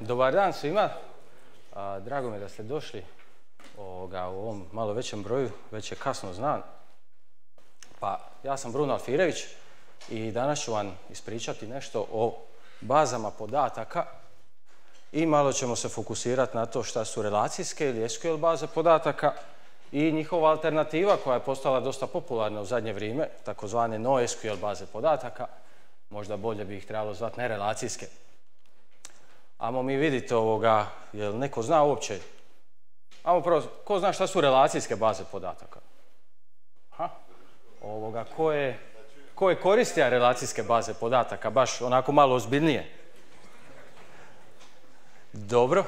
Dobar dan svima. Drago mi je da ste došli u ovom malo većem broju, već je kasno znan. Pa ja sam Bruno Alfirević i danas ću vam ispričati nešto o bazama podataka i malo ćemo se fokusirati na to šta su relacijske ili SQL baze podataka i njihova alternativa koja je postala dosta popularna u zadnje vrijeme, takozvane NoSQL baze podataka, možda bolje bi ih trebalo zvati nerelacijske. Ajmo mi vidjeti jel neko zna uopće? Ajmo prvo, ko zna šta su relacijske baze podataka? Ko je koristija relacijske baze podataka, baš onako malo ozbiljnije? Dobro.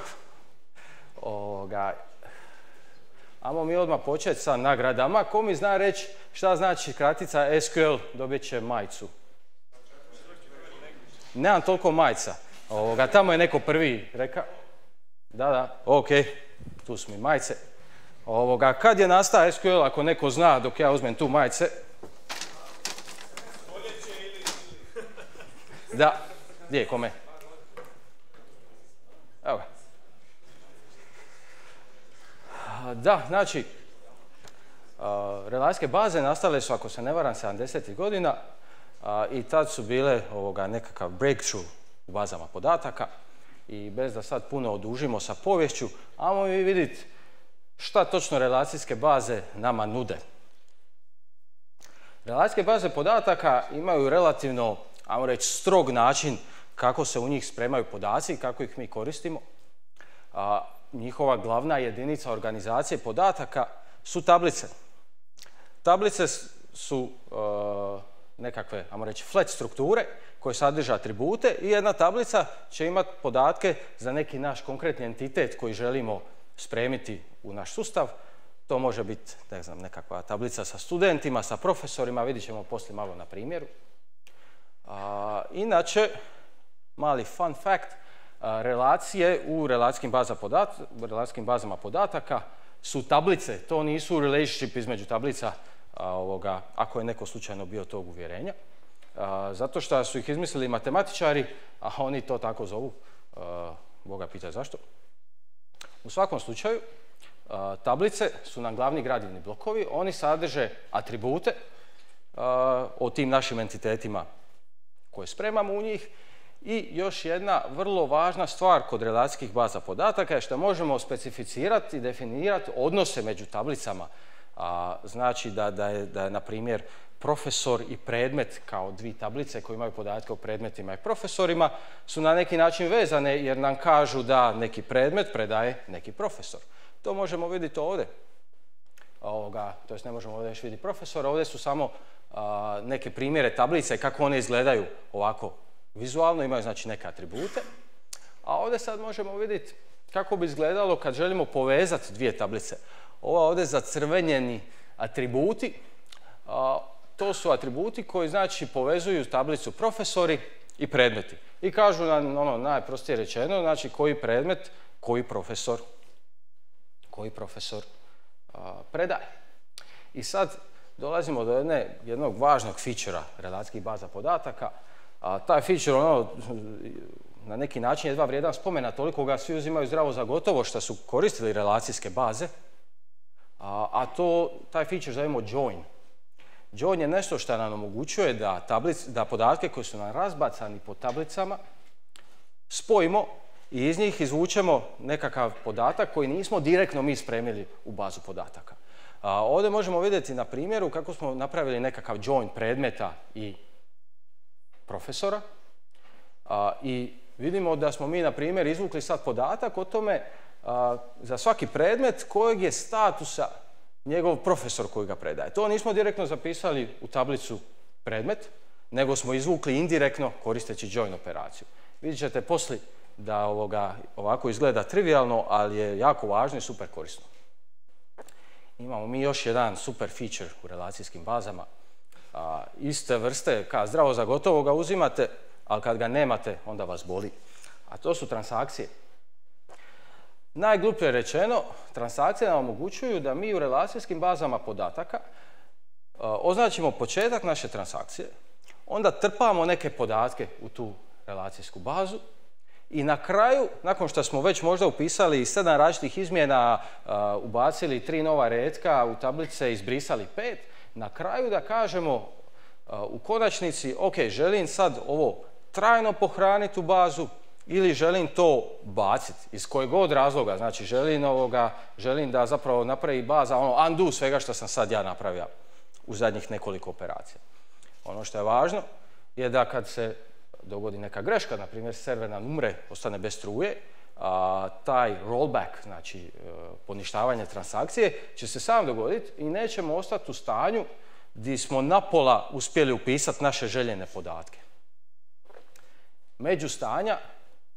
Ajmo mi odmah početi sa nagradama. Ko mi zna reći šta znači kratica SQL, dobit će majicu? Nemam toliko majica. Tamo je neko prvi rekao. Da, ok, tu su mi majice. Kad je nastao SQL, ako neko zna dok ja uzmem tu majice? Da, gdje je, kome? Evo ga. Da, znači, relacijske baze nastale su, ako se ne varam, 70. godina i tad su bile nekakav breakthrough u bazama podataka i bez da sad puno odužimo sa poviješću, ajmo mi vidjeti šta točno relacijske baze nama nude. Relacijske baze podataka imaju relativno, ajmo reći, strog način kako se u njih spremaju podaci i kako ih mi koristimo. Njihova glavna jedinica organizacije podataka su tablice. Tablice su nekakve, ajmo reći, flat strukture koje sadrže atribute i jedna tablica će imati podatke za neki naš konkretni entitet koji želimo spremiti u naš sustav. To može biti, ne znam, nekakva tablica sa studentima, sa profesorima, vidjet ćemo poslije malo na primjeru. Inače, mali fun fact, relacije u relacijskim bazama podataka su tablice, to nisu relationship između tablica, ako je neko slučajno bio tog uvjerenja. Zato što su ih izmislili matematičari, a oni to tako zovu, Boga pita zašto. U svakom slučaju, tablice su nam glavni gradivni blokovi, oni sadrže atribute o tim našim entitetima koje spremamo u njih. I još jedna vrlo važna stvar kod relacijskih baza podataka je što možemo specificirati i definirati odnose među tablicama. Znači da je, na primjer, profesor i predmet kao dvije tablice koje imaju podatke o predmetima i profesorima su na neki način vezane jer nam kažu da neki predmet predaje neki profesor. To možemo vidjeti ovdje. To jest ne možemo ovdje još vidjeti profesora, ovdje su samo neke primjere tablice kako one izgledaju ovako vizualno, imaju znači neke atribute. A ovdje sad možemo vidjeti kako bi izgledalo kad želimo povezati dvije tablice. Ovo ovdje zacrvenjeni atributi, to su atributi koji znači povezuju tablicu profesori i predmeti. I kažu nam, najprostije rečeno, znači koji predmet, koji profesor predaje. I sad dolazimo do jednog važnog fičera relacijskih baza podataka. Taj feature na neki način jedva vrijedan spomena, toliko ga svi uzimaju zdravo za gotovo što su koristili relacijske baze, a taj feature zovemo join. Join je nešto što nam omogućuje da podatke koji su nam razbacani po tablicama spojimo i iz njih izvučemo nekakav podatak koji nismo direktno mi spremili u bazu podataka. Ovdje možemo vidjeti na primjeru kako smo napravili nekakav join predmeta i profesora i vidimo da smo mi, na primjer, izvukli sad podatak o tome za svaki predmet kojeg je statusa njegov profesor koji ga predaje. To nismo direktno zapisali u tablicu predmet, nego smo izvukli indirektno koristeći join operaciju. Vidjet ćete poslije da ovako izgleda trivialno, ali je jako važno i super korisno. Imamo mi još jedan super feature u relacijskim bazama. Iste vrste, zdravo za gotovo ga uzimate, ali kad ga nemate, onda vas boli. A to su transakcije. Najgluplje rečeno, transakcije nam omogućuju da mi u relacijskim bazama podataka označimo početak naše transakcije, onda trpamo neke podatke u tu relacijsku bazu I na kraju, nakon što smo već možda upisali 7 različitih izmjena, ubacili 3 nova retka u tablice, izbrisali 5, na kraju da kažemo u konačnici, ok, želim sad ovo trajno pohraniti u bazu ili želim to baciti, iz kojeg god razloga. Znači, želim da zapravo napravi baza undo svega što sam sad ja napravio u zadnjih nekoliko operacija. Ono što je važno je da kad se dogodi neka greška, na primjer server nam umre, ostane bez struje, taj rollback, znači poništavanje transakcije, će se sam dogoditi i nećemo ostati u stanju gdje smo napola uspjeli upisati naše željene podatke. Međustanja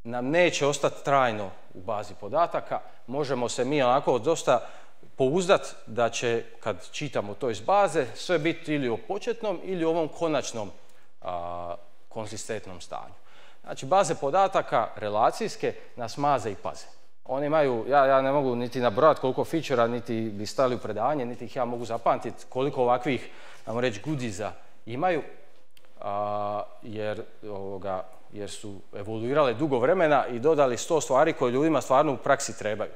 nam neće ostati trajno u bazi podataka, možemo se mi onako dosta pouzdati da će, kad čitamo to iz baze, sve biti ili o početnom ili ovom konačnom konzistentnom stanju. Znači, baze podataka relacijske nas maze i paze. Oni imaju, ja ne mogu niti nabrojati koliko feature-a, niti bi stali u predavanje, niti ih ja mogu zapamtiti koliko ovakvih, ajmo reći, goodiesa imaju, jer su evoluirale dugo vremena i dodali 100 stvari koje ljudima stvarno u praksi trebaju.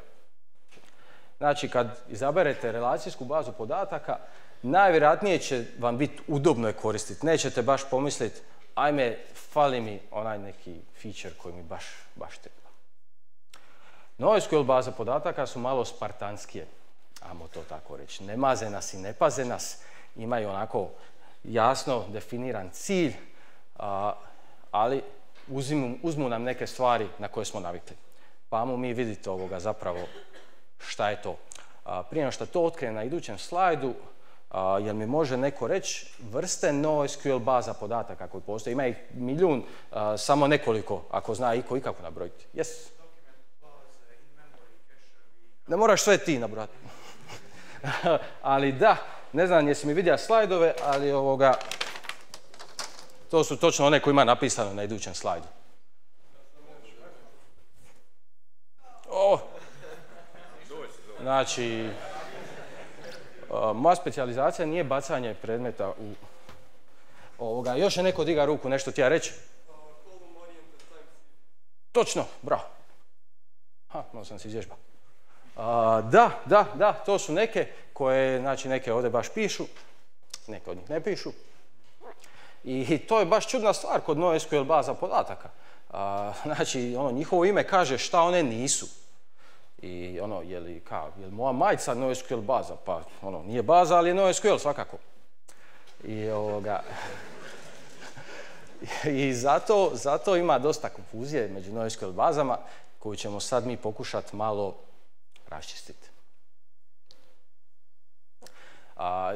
Znači, kad izaberete relacijsku bazu podataka, najvjerojatnije će vam biti udobno je koristiti. Nećete baš pomisliti, ajme, fali mi onaj neki feature koji mi baš treba. NoSQL baze podataka su malo spartanskije, ajmo to tako reći. Ne maze nas i ne paze nas, imaju onako jasno definiran cilj, ali uzmu nam neke stvari na koje smo navikli. Pa ajmo mi vidjeti zapravo šta je to. Prije nego što to otkrije na idućem slajdu, jer mi može neko reći vrste NoSQL baza podataka koji postoje. Ima ih milijun, samo nekoliko, ako zna iko i kako nabrojiti. Yes. Ne moraš sve ti nabrojati. Ali da, ne znam jesi mi vidio slajdove, ali to su točno one koje ima napisano na idućem slajdu. Znači, moja specijalizacija nije bacanje predmeta u Još je neko diga ruku, nešto ti ja reći? Točno, bravo. Malo sam se izvježbao. Da, to su neke koje, znači neke ovdje baš pišu, neke od njih ne pišu. I to je baš čudna stvar kod NoSQL baza podataka. Znači, njihovo ime kaže šta one nisu. I je li moja majica NoSQL baza? Pa, nije baza, ali je NoSQL svakako. I zato ima dosta konfuzije među NoSQL bazama, koju ćemo sad mi pokušati malo raščistiti.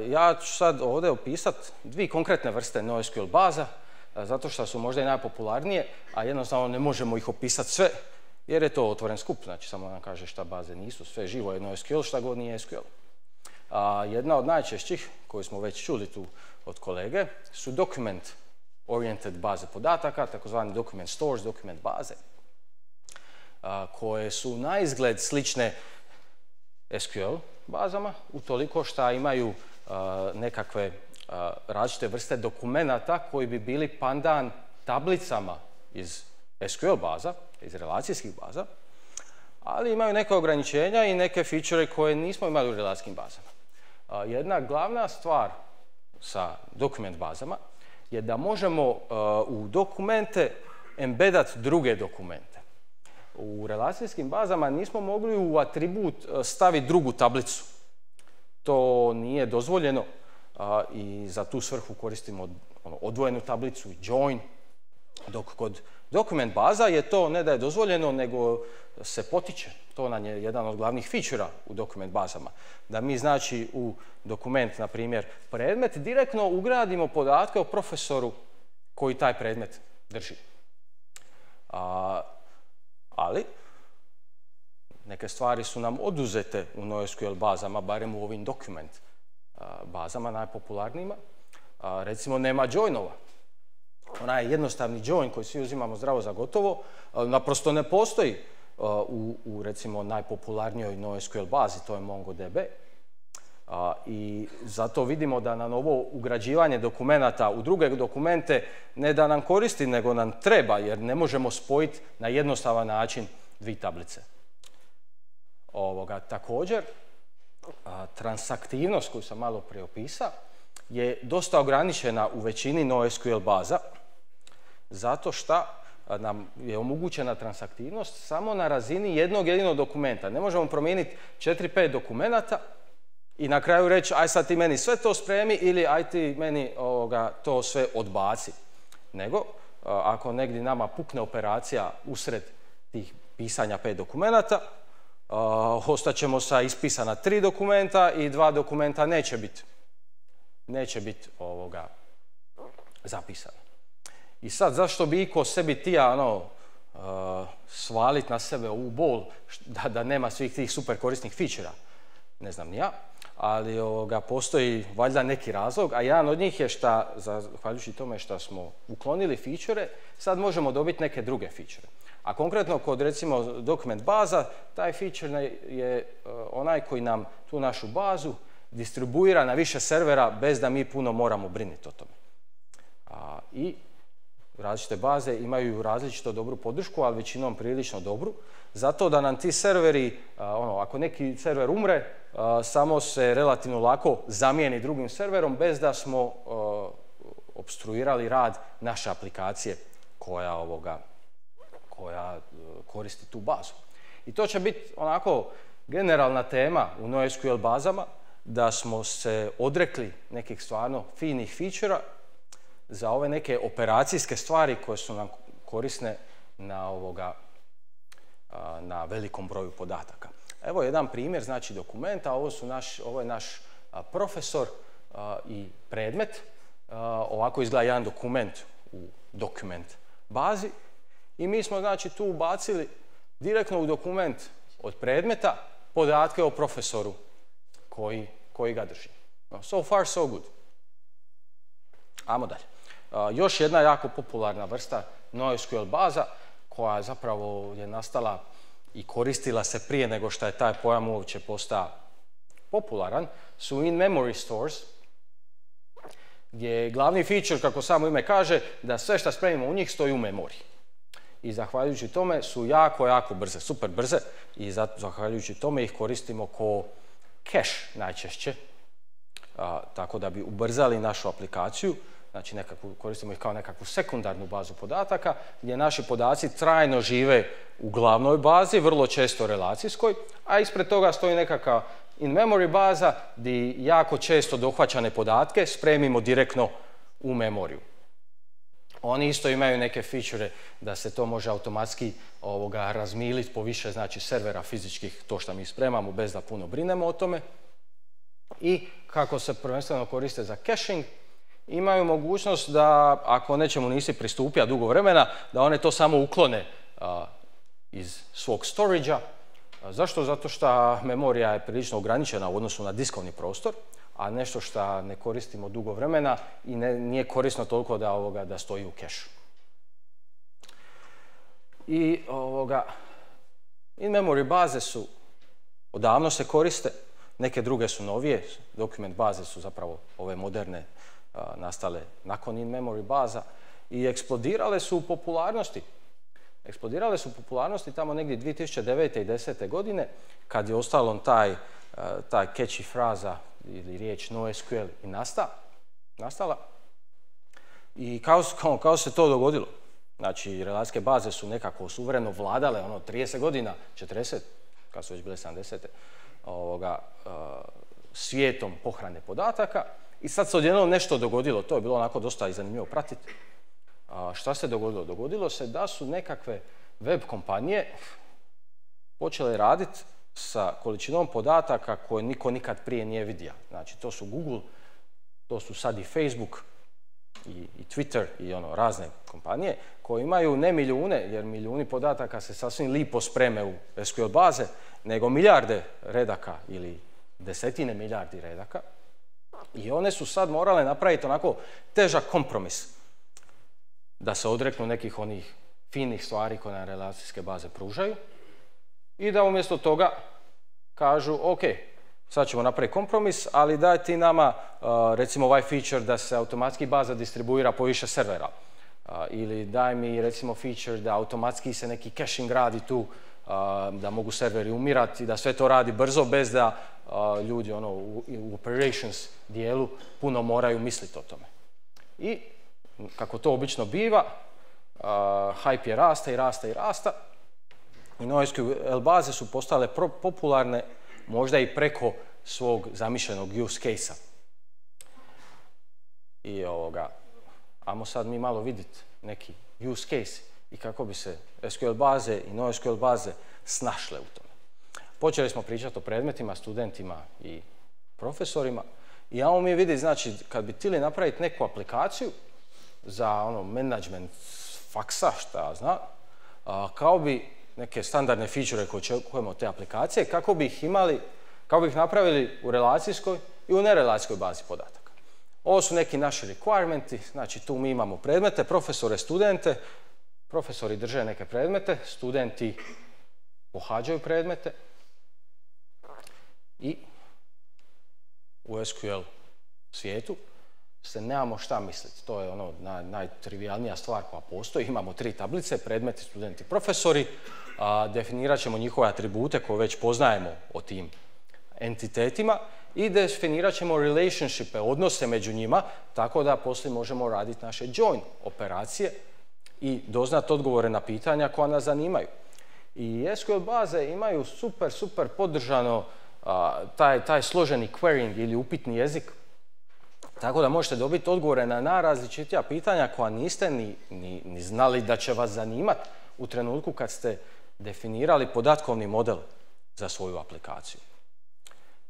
Ja ću sad ovdje opisati 2 konkretne vrste NoSQL baza, zato što su možda i najpopularnije, a jednostavno ne možemo ih opisati sve, jer je to otvoren skup, znači samo nam kaže šta baze nisu, sve živo je NoSQL, šta god nije SQL. Jedna od najčešćih, koju smo već čuli tu od kolege, su document-oriented baze podataka, takozvani document stores, dokument baze, koje su na izgled slične SQL bazama, utoliko što imaju nekakve različite vrste dokumenata koji bi bili pandan tablicama iz SQL baza, iz relacijskih baza, ali imaju neke ograničenja i neke feature koje nismo imali u relacijskim bazama. Jedna glavna stvar sa dokument bazama je da možemo u dokumente embedati druge dokumente. U relacijskim bazama nismo mogli u atribut staviti drugu tablicu. To nije dozvoljeno i za tu svrhu koristimo odvojenu tablicu i join, dok kod dokument baza je to ne da je dozvoljeno, nego se potiče. To nam je jedan od glavnih feature-a u dokument bazama. Da mi znači u dokument, na primjer, predmet, direktno ugradimo podatke o profesoru koji taj predmet drži. Ali neke stvari su nam oduzete u NoSQL bazama, barem u ovim dokument bazama najpopularnijima. Recimo, nema joinova. Onaj jednostavni join koji svi uzimamo zdravo za gotovo, naprosto ne postoji u recimo najpopularnijoj NoSQL bazi, to je MongoDB. I zato vidimo da nam ovo ugrađivanje dokumenata u druge dokumente ne da nam koristi, nego nam treba, jer ne možemo spojiti na jednostavan način dvije tablice. Također, transaktivnost koju sam malo prije opisao je dosta ograničena u većini NoSQL baza, zato što nam je omogućena transaktivnost samo na razini jednog jedinog dokumenta. Ne možemo promijeniti 4-5 dokumenata i na kraju reći aj sad ti meni sve to spremi ili aj ti meni to sve odbaci. Nego, ako negdje nama pukne operacija usred tih pisanja 5 dokumenata, ostaćemo sa ispisana 3 dokumenta i 2 dokumenta neće biti zapisana. I sad, zašto bi iko sebi tija svaliti na sebe ovu bol da nema svih tih super korisnih feature-a? Ne znam ni ja, ali postoji valjda neki razlog, a jedan od njih je što, zahvaljujući tome što smo uklonili feature-e, sad možemo dobiti neke druge feature-e. A konkretno kod recimo dokument baza, taj feature je onaj koji nam tu našu bazu distribuira na više servera bez da mi puno moramo brinuti o tome. I različite baze imaju različito dobru podršku, ali većinom prilično dobru, zato da nam ti serveri, ako neki server umre, samo se relativno lako zamijeni drugim serverom bez da smo opstruirali rad naše aplikacije koja koristi tu bazu. I to će biti onako generalna tema u NoSQL bazama, da smo se odrekli nekih stvarno finih feature-a za ove neke operacijske stvari koje su nam korisne na velikom broju podataka. Evo jedan primjer, znači dokumenta, ovo je naš profesor i predmet. Ovako izgleda jedan dokument u dokument bazi i mi smo znači tu ubacili direktno u dokument od predmeta podatke o profesoru koji ga drži. So far, so good. Ajmo dalje. Još jedna jako popularna vrsta NoSQL baza koja zapravo je nastala i koristila se prije nego što je taj pojam uopće postao popularan, su in-memory stores, gdje je glavni feature, kako samo ime kaže, da sve što spremimo u njih stoji u memoriji. I zahvaljujući tome su jako brze, super brze, i zahvaljujući tome ih koristimo ko cache najčešće, tako da bi ubrzali našu aplikaciju. Znači koristimo ih kao nekakvu sekundarnu bazu podataka gdje naši podaci trajno žive u glavnoj bazi, vrlo često relacijskoj, a ispred toga stoji nekakva in-memory baza gdje jako često dohvaćane podatke spremimo direktno u memoriju. Oni isto imaju neke feature da se to može automatski razmiliti po više znači servera fizičkih, to što mi spremamo bez da puno brinemo o tome. I kako se prvenstveno koriste za caching, imaju mogućnost da ako nečemu nisi pristupio dugo vremena, da one to samo uklone iz svog storage-a. Zašto? Zato što memorija je prilično ograničena u odnosu na diskovni prostor, a nešto što ne koristimo dugo vremena i nije korisno toliko da stoji u kešu. I in-memory baze su odavno se koriste, neke druge su novije, dokument baze su zapravo ove moderne nastale nakon in-memory baza i eksplodirale su u popularnosti. Eksplodirale su u popularnosti tamo negdje 2009. i 2010. godine kad je ostalo taj catchy fraza ili riječ NoSQL i nastala. I kao se to dogodilo. Znači, relacijske baze su nekako suvereno vladale 30 godina, 40, kad su već bile 70. Svijetom pohrane podataka. I sad se odjednom nešto dogodilo, to je bilo onako dosta i zanimljivo pratiti. Šta se dogodilo? Dogodilo se da su nekakve web kompanije počele raditi sa količinom podataka koje niko nikad prije nije vidio. Znači, to su Google, to su sad i Facebook i Twitter i razne kompanije koje imaju ne milijune, jer milijuni podataka se sasvim lipo spreme u SQL baze, nego milijarde redaka ili desetine milijardi redaka. I one su sad morale napraviti onako težak kompromis da se odreknu nekih onih finih stvari koje nam relacijske baze pružaju i da umjesto toga kažu ok, sad ćemo napraviti kompromis, ali daj ti nama recimo ovaj feature da se automatski baza distribuira po više servera. Ili daj mi recimo feature da automatski se neki caching radi tu, da mogu serveri umirati, da sve to radi brzo bez da ljudi u operations dijelu puno moraju misliti o tome. I kako to obično biva, hype je rasta i rasta i rasta. I NoSQL baze su postale popularne možda i preko svog zamišljenog use case-a. I ajmo sad mi malo vidjeti neki use case i kako bi se SQL baze i NoSQL baze snašle u tome. Počeli smo pričati o predmetima, studentima i profesorima i ajmo mi vidjeti, znači, kad bi htjeli napraviti neku aplikaciju za management faksa, šta ja znam, kao bi neke standardne feature koje očekujemo od te aplikacije, kako bi ih napravili u relacijskoj i u nerelacijskoj bazi podataka. Ovo su neki naši requirementi, znači tu mi imamo predmete, profesore, studente, profesori drže neke predmete, studenti pohađaju predmete i u SQL svijetu se nemamo šta misliti. To je najtrivialnija stvar koja postoji. Imamo 3 tablice, predmeti, studenti, profesori. Definirat ćemo njihove atribute koje već poznajemo o tim entitetima i definirat ćemo relationshipe, odnose među njima, tako da poslije možemo raditi naše join operacije i doznati odgovore na pitanja koja nas zanimaju. I SQL baze imaju super podržano taj složeni querying ili upitni jezik, tako da možete dobiti odgovore na najrazličitija pitanja koja niste ni znali da će vas zanimati u trenutku kad ste definirali podatkovni model za svoju aplikaciju.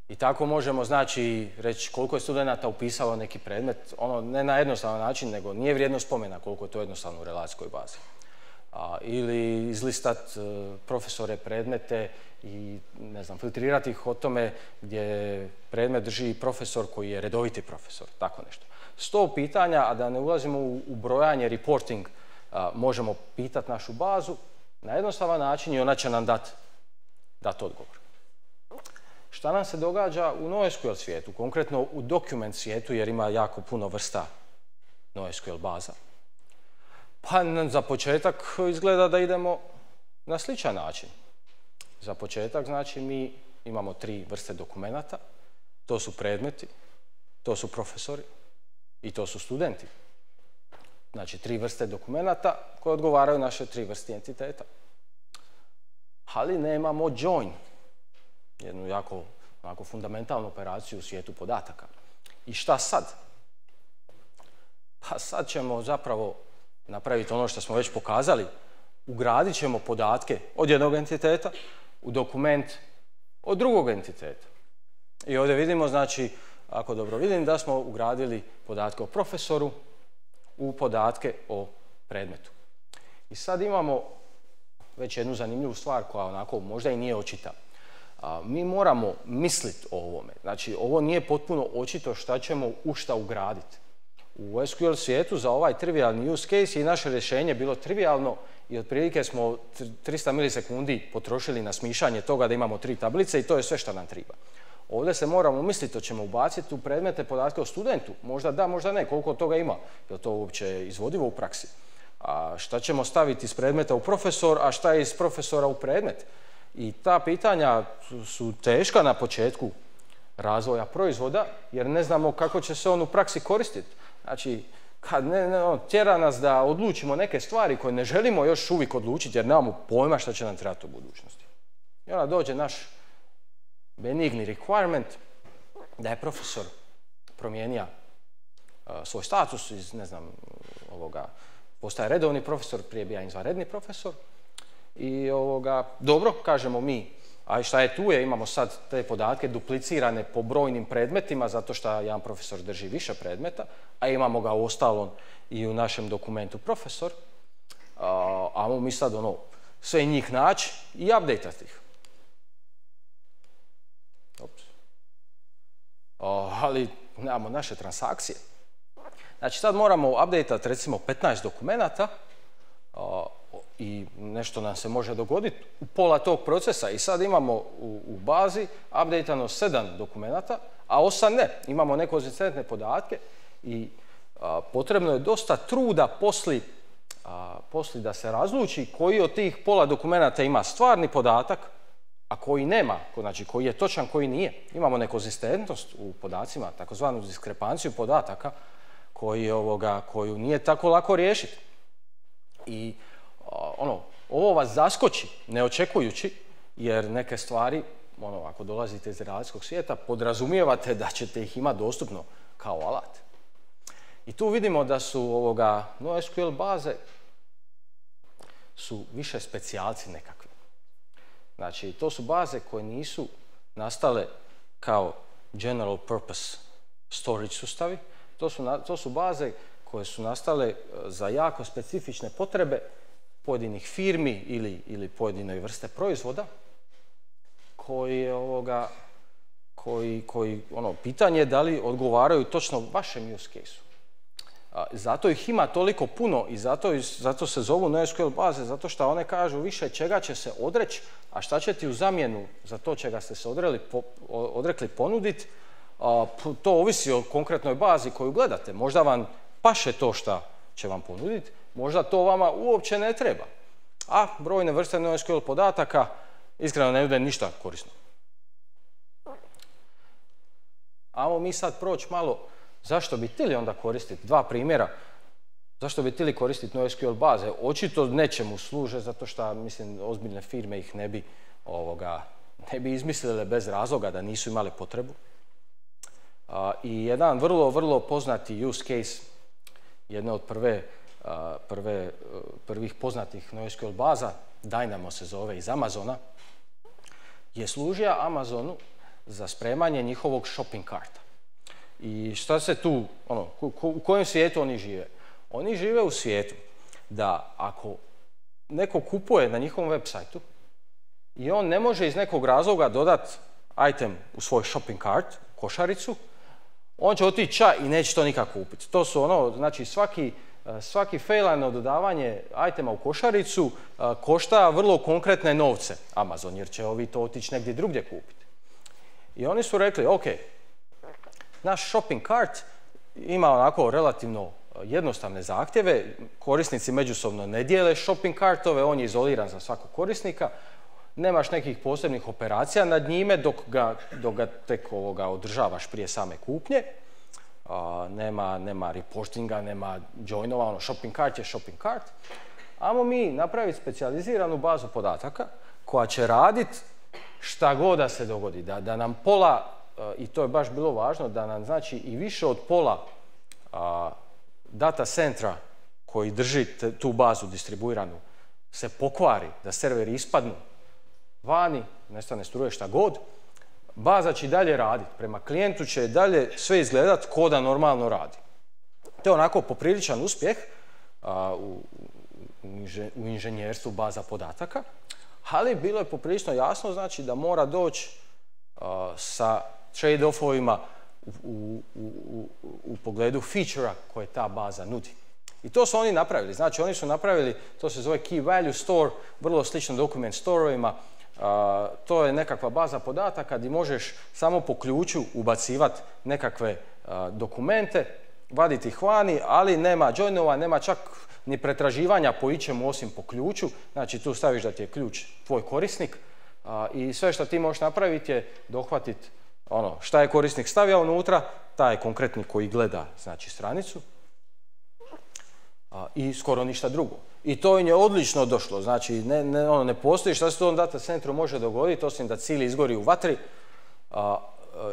I tako možemo, znači, reći koliko je studenata upisalo neki predmet, ne na jednostavan način, nego nije vrijedno spomena koliko je to jednostavno u relacijskoj bazi. Ili izlistat profesore predmete i, ne znam, filtrirati ih o tome gdje predmet drži profesor koji je redoviti profesor, tako nešto. 100 pitanja, a da ne ulazimo u brojanje, reporting, možemo pitati našu bazu na jednostavan način i ona će nam dati odgovor. Šta nam se događa u NoSQL svijetu, konkretno u document svijetu, jer ima jako puno vrsta NoSQL baza? Pa za početak izgleda da idemo na sličan način. Za početak, znači, mi imamo 3 vrste dokumenata. To su predmeti, to su profesori i to su studenti. Znači, 3 vrste dokumenata koje odgovaraju naše 3 vrste entiteta. Ali nemamo join, jednu jako fundamentalnu operaciju u svijetu podataka. I šta sad? Pa sad ćemo zapravo napraviti ono što smo već pokazali. Ugradit ćemo podatke od jednog entiteta u dokument od drugog entiteta. I ovdje vidimo, znači, ako dobro vidim, da smo ugradili podatke o profesoru u podatke o predmetu. I sad imamo već jednu zanimljivu stvar koja onako možda i nije očita. Mi moramo misliti o ovome. Znači, ovo nije potpuno očito šta ćemo u šta ugraditi. U SQL svijetu za ovaj trivialni use case je naše rješenje bilo trivialno i otprilike smo 300 milisekundi potrošili na smišanje toga da imamo 3 tablice i to je sve što nam treba. Ovdje se moramo misliti, to ćemo ubaciti u predmete podatke o studentu. Možda da, možda ne, koliko toga ima. Je li to uopće izvodivo u praksi? A šta ćemo staviti iz predmeta u profesor, a šta je iz profesora u predmet? I ta pitanja su teška na početku razvoja proizvoda, jer ne znamo kako će se on u praksi koristiti. Znači, kad tjera nas da odlučimo neke stvari koje ne želimo još uvijek odlučiti, jer nemamo pojma šta će nam trebati u budućnosti. I onda dođe naš benigni requirement da je profesor promijenio svoj status iz, ne znam, postaje redovni profesor, prije bija izvanredni profesor. I dobro, kažemo mi, a šta je tu je, imamo sad te podatke duplicirane po brojnim predmetima, zato što jedan profesor drži više predmeta, a imamo ga u ostalom i u našem dokumentu profesor. Ajmo mi sad sve njih naći i update-ati ih. Ali nemamo naše transakcije. Znači sad moramo update-ati recimo 15 dokumenata i nešto nam se može dogoditi u pola tog procesa. I sad imamo u bazi updateano 7 dokumenata, a 8 ne. Imamo nekonzistentne podatke i potrebno je dosta truda poslije da se razluči koji od tih pola dokumenata ima stvarni podatak, a koji nema, znači koji je točan, koji nije. Imamo nekonzistentnost u podacima, takozvanu diskrepanciju podataka koju nije tako lako riješiti. I ovo vas zaskoči neočekujući, jer neke stvari, ako dolazite iz relacijskog svijeta, podrazumijevate da ćete ih imati dostupno kao alat. I tu vidimo da su NoSQL baze su više specijalci nekakvi. Znači, to su baze koje nisu nastale kao general purpose storage sustavi. To su baze koje su nastale za jako specifične potrebe pojedinih firmi ili pojedine vrste proizvoda koji pitanje je da li odgovaraju točno vašem use case-u. Zato ih ima toliko puno i zato se zovu NoSQL baze, zato što one kažu više čega će se odreći, a šta će ti u zamjenu za to čega ste se odrekli ponuditi, to ovisi o konkretnoj bazi koju gledate. Možda vam paše to šta će vam ponuditi, možda to vama uopće ne treba. A brojne vrste NoSQL podataka iskreno ne nude ništa korisno. Ajmo mi sad proći malo zašto bi htjeli onda koristiti, dva primjera, zašto bi htjeli koristiti NoSQL baze. Očito nečemu služe, zato što, mislim, ozbiljne firme ih ne bi izmislile bez razloga da nisu imale potrebu. I jedan vrlo poznati use case, jedna od prvih poznatih NoSQL baza, Dynamo se zove, iz Amazona, je služio Amazonu za spremanje njihovog shopping karta. I šta se tu, u kojem svijetu oni žive? Oni žive u svijetu da ako neko kupuje na njihovom web sajtu i on ne može iz nekog razloga dodati item u svoj shopping cart, košaricu, on će otići ča i neće to nikako kupiti. To su znači svaki failano dodavanje itema u košaricu košta vrlo konkretne novce Amazon, jer će ovi to otići negdje drugdje kupiti. I oni su rekli, ok, naš shopping cart ima onako relativno jednostavne zahtjeve, korisnici međusobno ne dijele shopping cartove, on je izoliran za svakog korisnika, nemaš nekih posebnih operacija nad njime dok ga tek održavaš prije same kupnje, nema reportinga, nema joinova, shopping cart je shopping cart. Ajmo mi napraviti specijaliziranu bazu podataka koja će raditi šta god da se dogodi, da nam pola, i to je baš bilo važno, da nam znači i više od pola data centra koji drži tu bazu distribuiranu se pokvari, da serveri ispadnu vani, nestane struje, šta god, baza će i dalje raditi. Prema klijentu će dalje sve izgledati ko da normalno radi. To je onako popriličan uspjeh u inženjerstvu baza podataka, ali bilo je poprilično jasno, znači, da mora doći sa trade-offovima u pogledu feature-a koje ta baza nudi. I to su oni napravili. Znači, oni su napravili, to se zove Key Value Store, vrlo slično document store-ovima. To je nekakva baza podataka gdje možeš samo po ključu ubacivati nekakve dokumente, vaditi ih vani, ali nema joinova, nema čak ni pretraživanja po ičemu osim po ključu. Znači, tu staviš da ti je ključ tvoj korisnik i sve što ti možeš napraviti je dohvatiti šta je korisnik stavio unutra, taj konkretni koji gleda, znači, stranicu, i skoro ništa drugo. I to im je odlično došlo, znači ne postoji šta se to u data centru može dogoditi, osim da cilj izgori u vatri,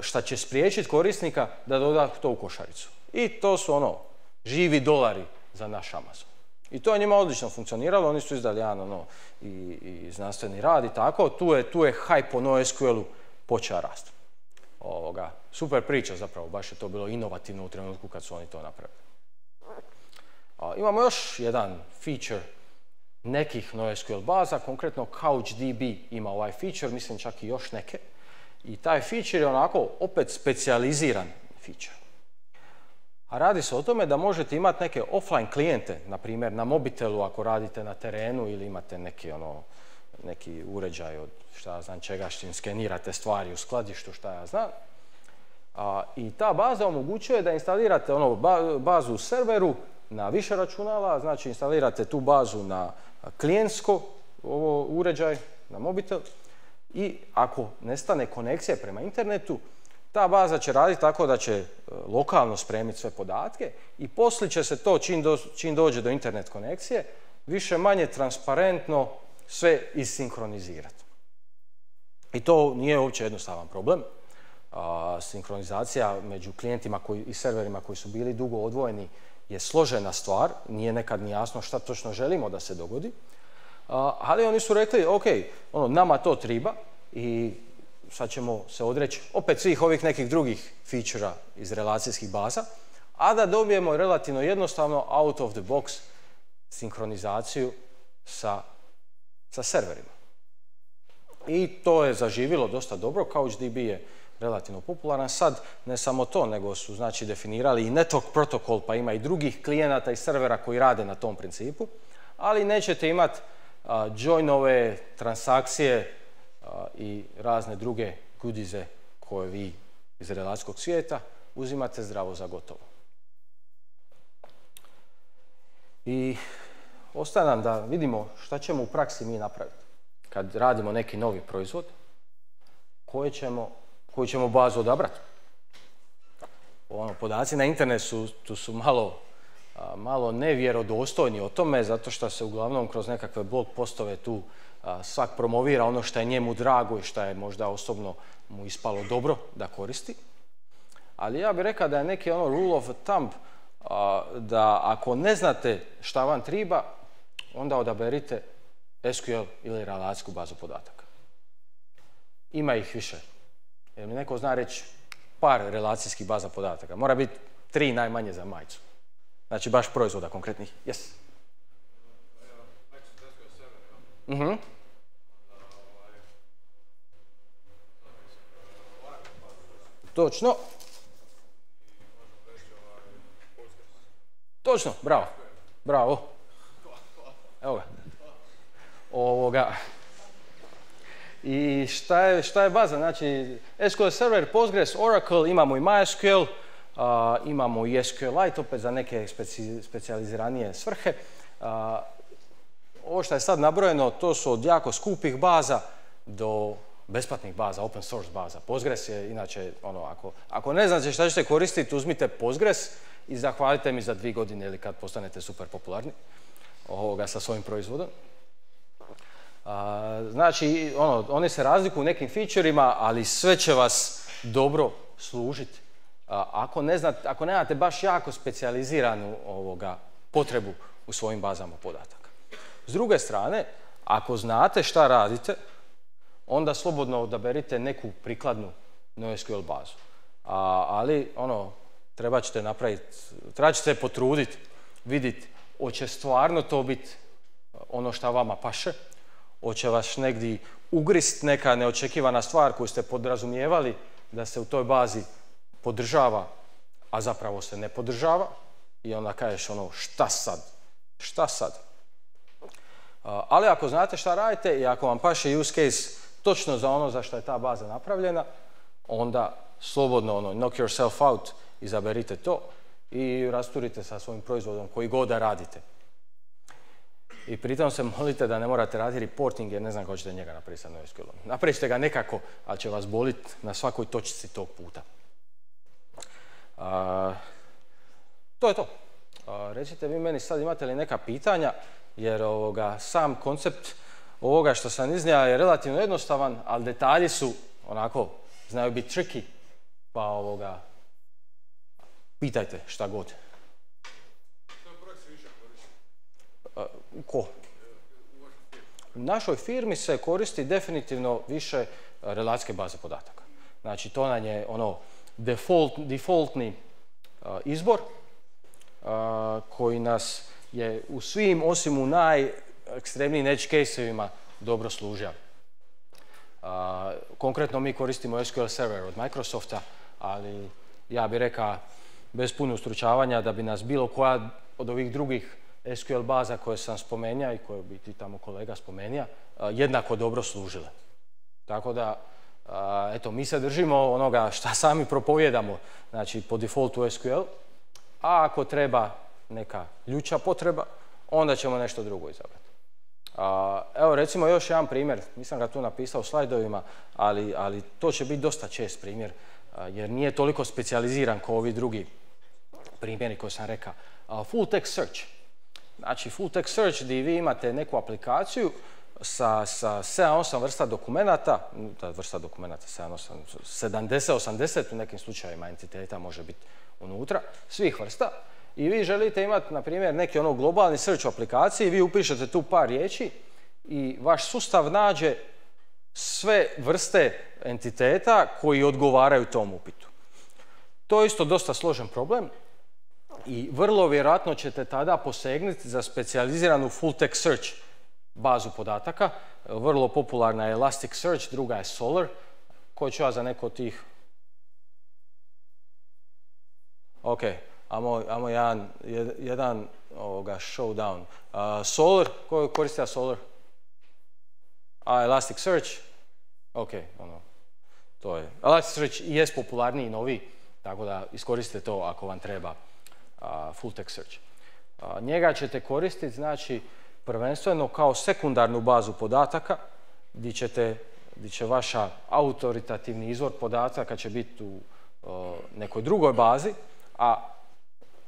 šta će spriječiti korisnika da doda to u košaricu. I to su živi dolari za naš Amazon. I to je njima odlično funkcioniralo, oni su izdali jedan i znanstveni rad i tako, tu je hype o NoSQL-u počeo rasti. Super priča zapravo, baš je to bilo inovativno u trenutku kad su oni to napravili. Imamo još jedan feature nekih NoSQL baza, konkretno CouchDB ima ovaj feature, mislim čak i još neke. I taj feature je onako opet specijaliziran feature. A radi se o tome da možete imati neke offline klijente, na primjer na mobitelu ako radite na terenu ili imate neki uređaj od šta ja znam čega, s čim skenirate stvari u skladištu, šta ja znam. I ta baza omogućuje da instalirate bazu u serveru na više računala, znači instalirate tu bazu na klijentsko uređaj, na mobitel, i ako nestane konekcija prema internetu, ta baza će raditi tako da će lokalno spremiti sve podatke i poslije će se to, čim dođe do internet konekcije, više manje transparentno sve isinkronizirati. I to nije uopće jednostavan problem. Sinkronizacija među klijentima i serverima koji su bili dugo odvojeni je složena stvar, nije nekad ni jasno šta točno želimo da se dogodi. Ali oni su rekli, ok, nama to treba i sad ćemo se odreći opet svih ovih nekih drugih feature-a iz relacijskih baza, a da dobijemo relativno jednostavno out of the box sinkronizaciju sa serverima. I to je zaživjelo dosta dobro, CouchDB je relativno popularan. Sad ne samo to, nego su znači definirali i network protokol, pa ima i drugih klijenata i servera koji rade na tom principu, ali nećete imati joinove, transakcije i razne druge goodiese koje vi iz relacijskog svijeta uzimate zdravo za gotovo. I ostaje nam da vidimo šta ćemo u praksi mi napraviti kad radimo neki novi proizvod, koju ćemo bazu odabrati. Podaci na internetu su malo nevjerodostojni o tome, zato što se uglavnom kroz nekakve blog postove tu svak promovira ono što je njemu drago i što je možda osobno mu ispalo dobro da koristi. Ali ja bih rekao da je neki rule of thumb da ako ne znate šta vam treba, onda odaberite SQL ili relacijsku bazu podataka. Ima ih više. Jer mi neko zna reći par relacijskih baza podataka. Mora biti 3 najmanje za majicu. Znači baš proizvoda konkretnih. Yes. Točno. Točno, bravo. Bravo. Evo ga. I šta je baza? Znači, SQL Server, Postgres, Oracle, imamo i MySQL, imamo i SQLite opet za neke specijaliziranije svrhe. Ovo što je sad nabrojeno, to su od jako skupih baza do besplatnih baza, open source baza. Postgres je inače, ako ne znate šta ćete koristiti, uzmite Postgres i zahvalite mi za 2 godine ili kad postanete super popularni sa svojim proizvodom. Znači, oni se razlikuju u nekim feature-ima, ali sve će vas dobro služiti. Ako nemate baš jako specijaliziranu potrebu u svojim bazama podataka. S druge strane, ako znate šta radite, onda slobodno odaberite neku prikladnu NoSQL bazu. Ali, treba ćete se potruditi, vidjeti, hoće stvarno to biti ono šta vama paše, hoće vas negdje ugrist neka neočekivana stvar koju ste podrazumijevali da se u toj bazi podržava, a zapravo se ne podržava, i onda kažeš šta sad? Ali ako znate šta radite i ako vam paše use case točno za ono za što je ta baza napravljena, onda slobodno knock yourself out, izaberite to i rasturite sa svojim proizvodom koji god da radite. I pritom se molite da ne morate raditi reporting jer ne znam kako ćete njega napraviti sa NoSQL-om. Napravit ćete ga nekako, ali će vas boliti na svakoj točci tog puta. To je to. Recite vi meni sad imate li neka pitanja, jer sam koncept ovoga što sam iznio je relativno jednostavan, ali detalji su znaju biti tricky, pa pitajte šta god. Ko? U našoj firmi se koristi definitivno više relacijske baze podataka. Znači, to nam je defaultni izbor koji nas je u svim, osim u najekstremnijim edge case-evima, dobro služio. Konkretno mi koristimo SQL Server od Microsofta, ali ja bih rekao bez puno ustručavanja da bi nas bilo koja od ovih drugih SQL baza koje sam spomenuo i koje bi ti tamo kolega spomenuo, jednako dobro služile. Tako da, eto, mi se držimo onoga šta sami propovijedamo, znači po defaultu SQL, a ako treba neka ljuća potreba, onda ćemo nešto drugo izabrati. Evo recimo još jedan primjer, nisam ga tu napisao u slajdovima, ali to će biti dosta čest primjer, jer nije toliko specijaliziran kao ovi drugi primjeri koje sam rekao. Full text search. Znači full text search gdje vi imate neku aplikaciju sa 7-8 vrsta dokumenata, 70-80 u nekim slučajevima entiteta može biti unutra, svih vrsta. I vi želite imati, na primjer, neki globalni search u aplikaciji, vi upišete tu par riječi i vaš sustav nađe sve vrste entiteta koji odgovaraju tom upitu. To je isto dosta složen problem i vrlo vjerojatno ćete tada posegnuti za specijaliziranu full text search bazu podataka. Vrlo popularna je Elasticsearch, druga je Solr, koju ću ja za neko od tih... Ok, ajmo jedan showdown. Solr, ko koristi Solr? Elasticsearch? Ok, to je. Elasticsearch i jest popularniji i novi, tako da iskoristite to ako vam treba full text search. Njega ćete koristiti, znači, prvenstveno kao sekundarnu bazu podataka, gdje će vaša autoritativni izvor podataka će biti u nekoj drugoj bazi, a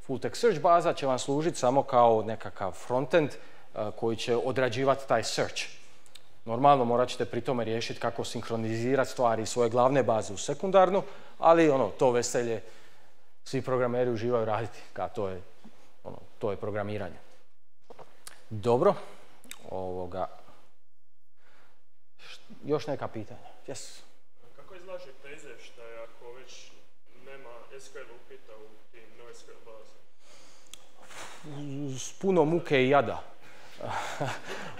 full text search baza će vam služiti samo kao nekakav frontend koji će odrađivati taj search. Normalno morat ćete pri tome riješiti kako sinkronizirati stvari iz svoje glavne baze u sekundarnu, ali to veselje svi programeri uživaju raditi, to je programiranje. Dobro, još neka pitanja? Yes. Kako izlaže teze što je ako već nema SQL upita u tim NoSQL bazi? S puno muke i jada.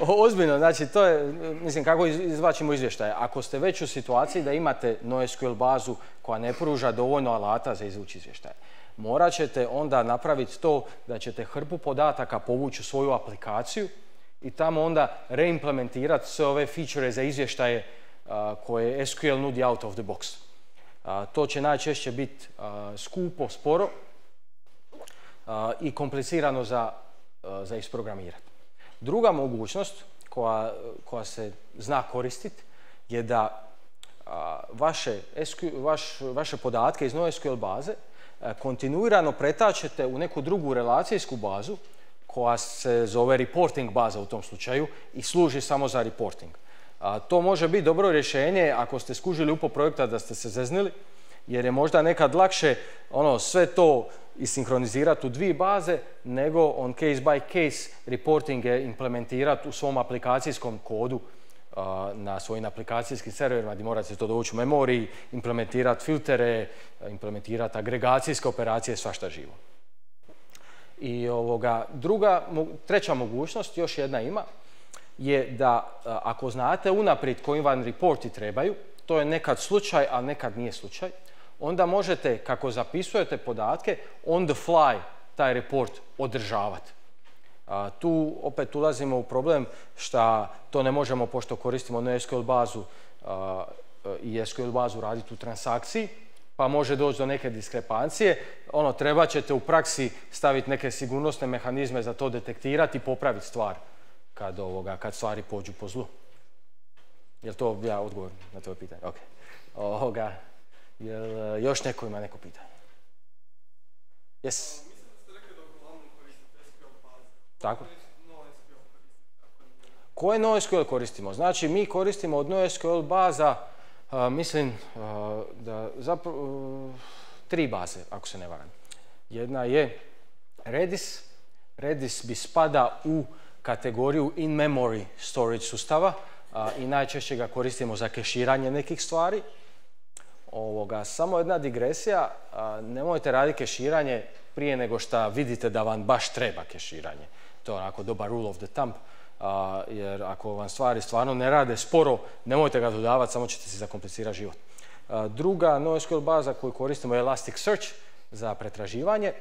Ozbiljno, znači to je, mislim, kako izvlačimo izvještaje. Ako ste već u situaciji da imate NoSQL bazu koja ne pruža dovoljno alata za izvući izvještaje, morat ćete onda napraviti to da ćete hrpu podataka povući u svoju aplikaciju i tamo onda reimplementirati sve ove feature za izvještaje koje SQL nudi out of the box. To će najčešće biti skupo, sporo i komplicirano za isprogramirati. Druga mogućnost koja se zna koristiti je da vaše podatke iz NoSQL baze kontinuirano pretačete u neku drugu relacijsku bazu koja se zove reporting baza u tom slučaju i služi samo za reporting. To može biti dobro rješenje ako ste skužili UPO projekta da ste se zeznili, jer je možda nekad lakše sve to isinkronizirati u dvije baze, nego on case by case reportinge implementirati u svom aplikacijskom kodu na svojim aplikacijskim serverima gdje morate to dovući u memoriji, implementirati filtere, implementirati agregacijske operacije, svašta živo. I treća mogućnost, još jedna ima, je da ako znate unaprijed koji vam reporti trebaju, to je nekad slučaj, a nekad nije slučaj, onda možete, kako zapisujete podatke, on the fly taj report održavati. Tu opet ulazimo u problem što to ne možemo, pošto koristimo NoSQL bazu i SQL bazu raditi u transakciji, pa može doći do neke diskrepancije. Treba ćete u praksi staviti neke sigurnosne mehanizme za to detektirati i popraviti stvar kad stvari pođu po zlu. Je li to ja odgovor na tvoje pitanje? Ok. Jel još neko ima neko pitanje? Yes. Mislim da ste rekli da uglavnom koristite SQL baze. Tako. NoSQL koristite? Koje NoSQL koristimo? Znači, mi koristimo od NoSQL baza, mislim, da zapravo 3 baze, ako se ne varam. Jedna je Redis. Redis bi spada u kategoriju in-memory storage sustava i najčešće ga koristimo za keširanje nekih stvari. Samo jedna digresija, nemojte raditi keširanje prije nego što vidite da vam baš treba keširanje. To je onako dobar rule of the thumb, jer ako vam stvari stvarno ne rade sporo, nemojte ga dodavati, samo ćete si zakomplicirati život. Druga NoSQL baza koju koristimo je Elasticsearch za pretraživanje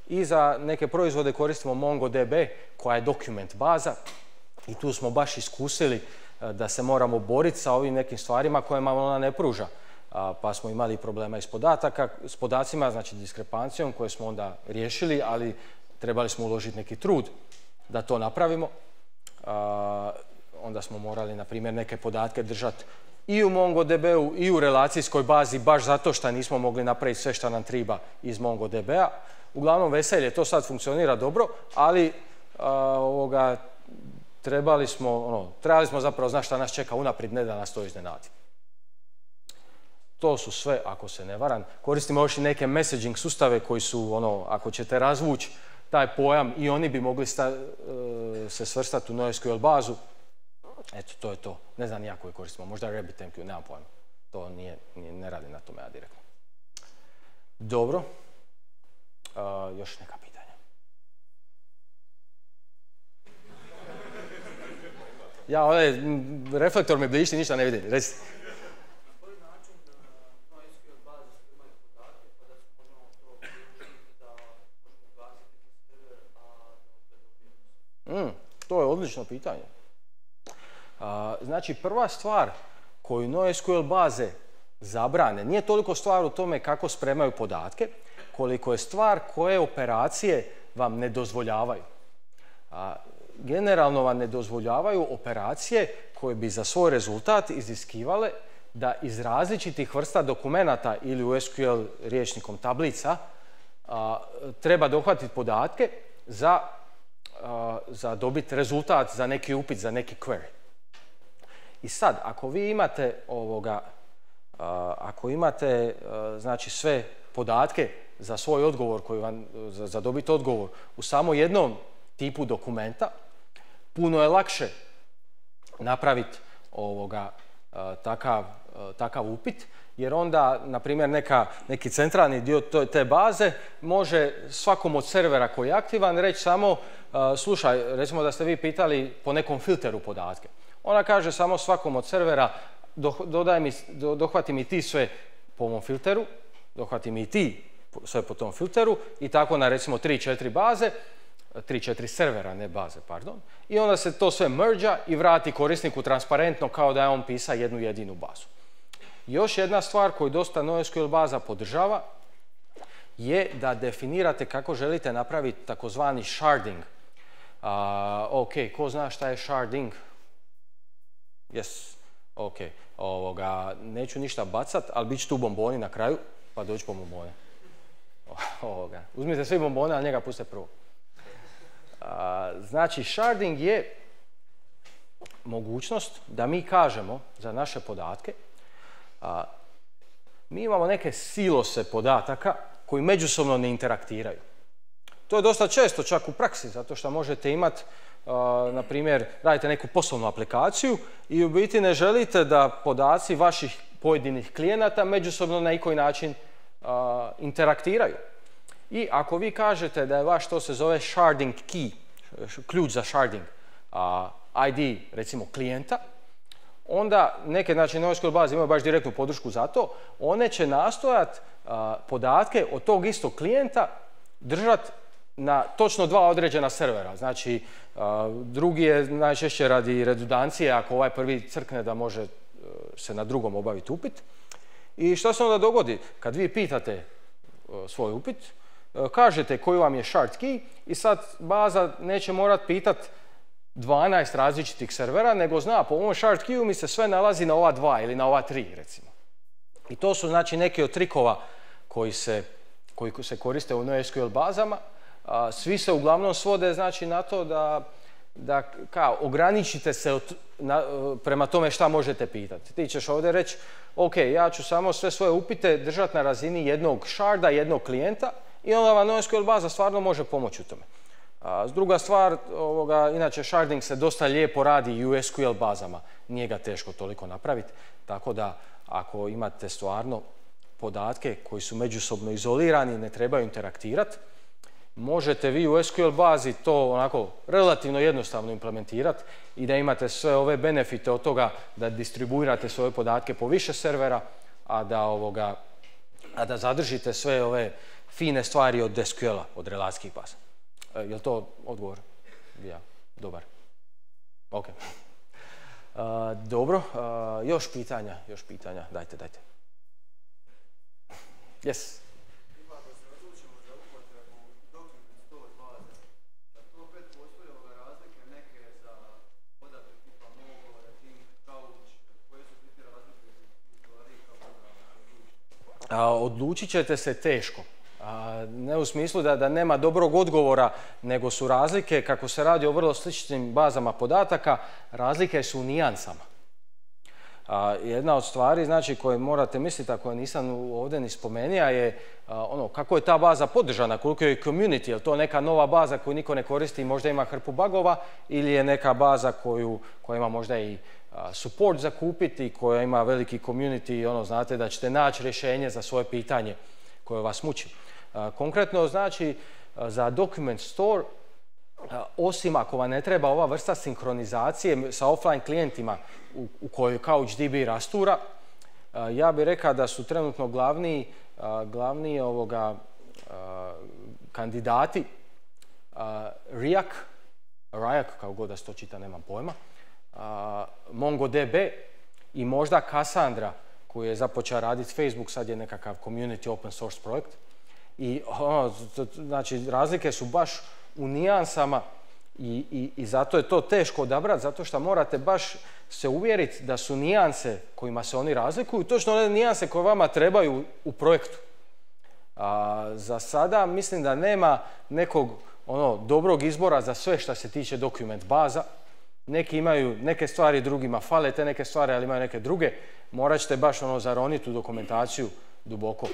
i za neke proizvode koristimo MongoDB koja je dokument baza i tu smo baš iskusili da se moramo boriti sa ovim nekim stvarima kojima ona ne pruža. Pa smo imali problema i s podacima, znači diskrepancijom koje smo onda riješili, ali trebali smo uložiti neki trud da to napravimo. Onda smo morali, na primjer, neke podatke držati i u MongoDB-u i u relacijskoj bazi, baš zato što nismo mogli napraviti sve što nam treba iz MongoDB-a. Uglavnom, veselje, to sad funkcionira dobro, ali trebali smo zapravo znati šta nas čeka unaprijed, ne da nas to iznenadi. To su sve, ako se ne varam. Koristimo još i neke messaging sustave koji su, ako ćete razvući taj pojam, i oni bi mogli se svrstati u NoSQL bazu. Eto, to je to. Ne znam nijako je koristimo. Možda RabbitMQ, nemam pojma. To ne radi na tome ja direktno. Dobro. Još neka pitanja. Ja, reflektor mi blišti, ništa ne vidim. Recite. To je odlično pitanje. Znači, prva stvar koju NoSQL baze zabrane nije toliko stvar u tome kako spremaju podatke, koliko je stvar koje operacije vam ne dozvoljavaju. Generalno vam ne dozvoljavaju operacije koje bi za svoj rezultat iziskivale da iz različitih vrsta dokumenata ili u SQL rječnikom tablica treba dohvatiti podatke za dobiti rezultat za neki upit, za neki query. I sad, ako vi imate znači sve podatke za svoj odgovor za dobiti odgovor u samo jednom tipu dokumenta, puno je lakše napraviti takav upit, jer onda, na primjer, neki centralni dio te baze može svakom od servera koji je aktivan reći samo slušaj, recimo da ste vi pitali po nekom filteru podatke. Ona kaže samo svakom od servera dohvati mi ti sve po ovom filteru, dohvati mi ti sve po tom filteru i tako na recimo 3-4 baze, 3-4 servera, ne baze, pardon. I onda se to sve merđa i vrati korisniku transparentno kao da je on pisa jednu jedinu bazu. Još jedna stvar koju dosta NoSQL baza podržava je da definirate kako želite napraviti takozvani sharding. Ok, ko zna šta je sharding? Yes, ok. Neću ništa bacat, ali bit će tu bomboni na kraju, pa doći po bombone. Uzmite svi bombone, ali njega puste prvo. Znači, sharding je mogućnost da mi kažemo za naše podatke, mi imamo neke silose podataka koji međusobno ne interaktiraju. To je dosta često čak u praksi, zato što možete imati, na primjer, radite neku poslovnu aplikaciju i u biti ne želite da podaci vaših pojedinih klijenata međusobno na neki način interaktiraju. I ako vi kažete da je vaš, to se zove sharding key, ključ za sharding, ID, recimo, klijenta, onda neke, znači, NoSQL baze imaju baš direktnu podršku za to, one će nastojati podatke od tog istog klijenta držati na točno dva određena servera. Znači, drugi je najčešće radi redundancije, ako ovaj prvi crkne da može se na drugom obaviti upit. I što se onda dogodi? Kad vi pitate svoj upit, kažete koji vam je shard key i sad baza neće morati pitati 12 različitih servera, nego zna po ovom shard keyu mi se sve nalazi na ova dva ili na ova tri, recimo. I to su, znači, neki od trikova koji se koriste u NoSQL bazama. Svi se uglavnom svode, znači, na to da kao ograničite se prema tome šta možete pitati. Ti ćeš ovdje reći, ok, ja ću samo sve svoje upite držati na razini jednog sharda, jednog klijenta i onda vam NoSQL baza stvarno može pomoći u tome. Druga stvar, inače sharding se dosta lijepo radi i u SQL bazama, nije ga teško toliko napraviti, tako da ako imate stvarno podatke koji su međusobno izolirani, ne trebaju interaktirati, možete vi u SQL bazi to onako relativno jednostavno implementirati i da imate sve ove benefite od toga da distribuirate svoje podatke po više servera, a da zadržite sve ove fine stvari od SQL-a, od relacijskih baza. Je li to odgovor? Ja, dobar. Ok. Dobro, još pitanja, dajte. Yes. Odlučit ćete se teško. Ne u smislu da nema dobrog odgovora, nego su razlike, kako se radi o vrlo sličnim bazama podataka, razlike su u nijansama. Jedna od stvari, znači, koje morate misliti, a koje nisam ovdje ni spomenuo, je kako je ta baza podržana, koliko je community, je li to neka nova baza koju niko ne koristi i možda ima hrpu bugova, ili je neka baza koja ima možda i support za kupiti, koja ima veliki community, znate da ćete naći rješenje za svoje pitanje koje vas muči. Konkretno, znači, za document store, osim ako vam ne treba ova vrsta sinkronizacije sa offline klijentima u kojoj CouchDB rastura, ja bih rekao da su trenutno glavni kandidati Riak, kao god da se to čita, nemam pojma, MongoDB i možda Cassandra, koju je započeo raditi Facebook, sad je nekakav community open source projekt. I znači, razlike su baš u nijansama i zato je to teško odabrati, zato što morate baš se uvjeriti da su nijanse kojima se oni razlikuju točno one nijanse koje vama trebaju u projektu. Za sada mislim da nema nekog dobrog izbora za sve što se tiče dokument baza. Neki imaju neke stvari, drugima fale te neke stvari, ali imaju neke druge. Morat ćete baš zaroniti u dokumentaciju duboko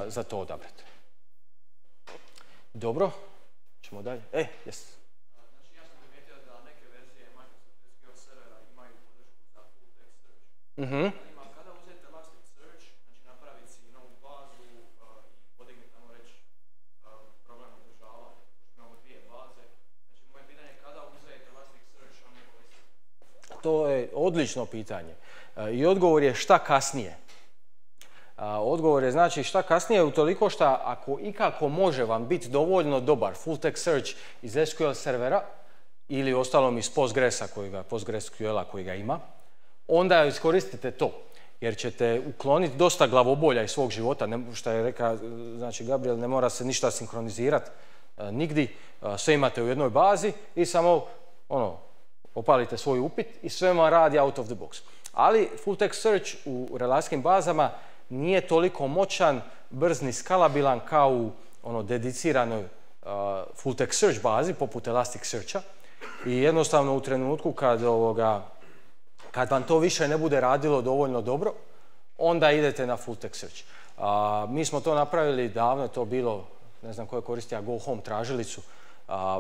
za to odabrati. Dobro, ćemo dalje. Yes. Znači, ja sam primijetio da neke verzije Microsoft SQL servera imaju podršku za full text search. Kada uzeti Elasticsearch, znači napraviti si novu bazu i podigniti, tamo reći, program održavanja, imamo dvije baze. Znači, moje pitanje je kada uzeti Elasticsearch, a ne koristiti? To je odlično pitanje. I odgovor je šta kasnije. Odgovor je znači šta kasnije utoliko što ako ikako može vam biti dovoljno dobar full text search iz SQL servera ili ostalom iz PostgreSQL-a koji ga ima, onda iskoristite to. Jer ćete ukloniti dosta glavobolja iz svog života, što je rekao, znači Gabriel, ne mora se ništa sinkronizirati nigdje, sve imate u jednoj bazi i samo opalite svoj upit i sve vam radi out of the box. Ali full text search u relacijskim bazama nije toliko moćan, brz ni skalabilan kao u dediciranoj full text search bazi poput Elasticsearcha i jednostavno u trenutku kad vam to više ne bude radilo dovoljno dobro, onda idete na full text search. Mi smo to napravili davno, je to bilo, ne znam ko je koristio Go Home tražilicu,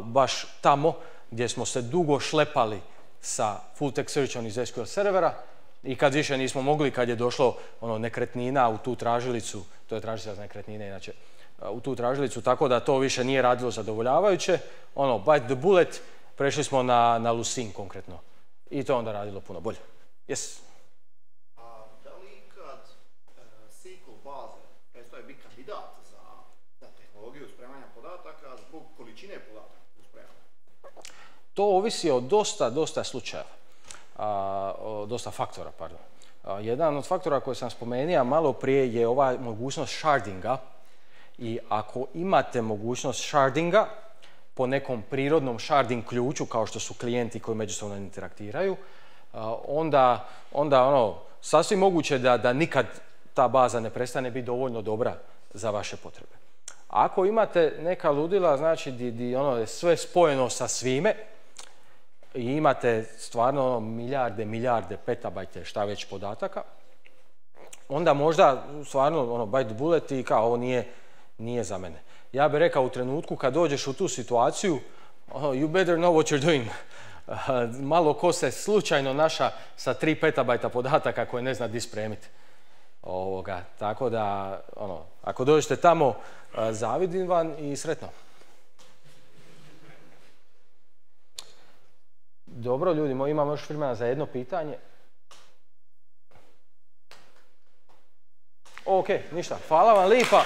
baš tamo gdje smo se dugo šlepali sa full text searchom iz SQL servera i kad više nismo mogli, kad je došlo nekretnina u tu tražilicu, to je tražilica za nekretnine inače, u tu tražilicu, tako da to više nije radilo zadovoljavajuće, bite the bullet, prešli smo na Lucene konkretno i to onda radilo puno bolje. Yes. Da li kad SQL baze prestaje biti kandidat za tehnologiju spremanja podataka zbog količine podataka u spremanju? To ovisi o dosta slučajeva. Dosta faktora, pardon. Jedan od faktora koji sam spomenuo malo prije je ova mogućnost shardinga i ako imate mogućnost shardinga po nekom prirodnom sharding ključu kao što su klijenti koji međusobno interaktiraju, onda sasvim moguće da nikad ta baza ne prestane biti dovoljno dobra za vaše potrebe. Ako imate neka ludila, znači di je sve spojeno sa svime, i imate stvarno milijarde petabajte šta već podataka, onda možda stvarno bite bullet i kao ovo nije za mene. Ja bih rekao u trenutku kad dođeš u tu situaciju, you better know what you're doing. Malo ko se slučajno naša sa 3 petabajta podataka koje ne zna di spremiti. Tako da, ako dođete tamo, zavidim vam i sretno. Dobro, ljudi moji, imamo još vremena za jedno pitanje. Ok, ništa. Hvala vam lipa.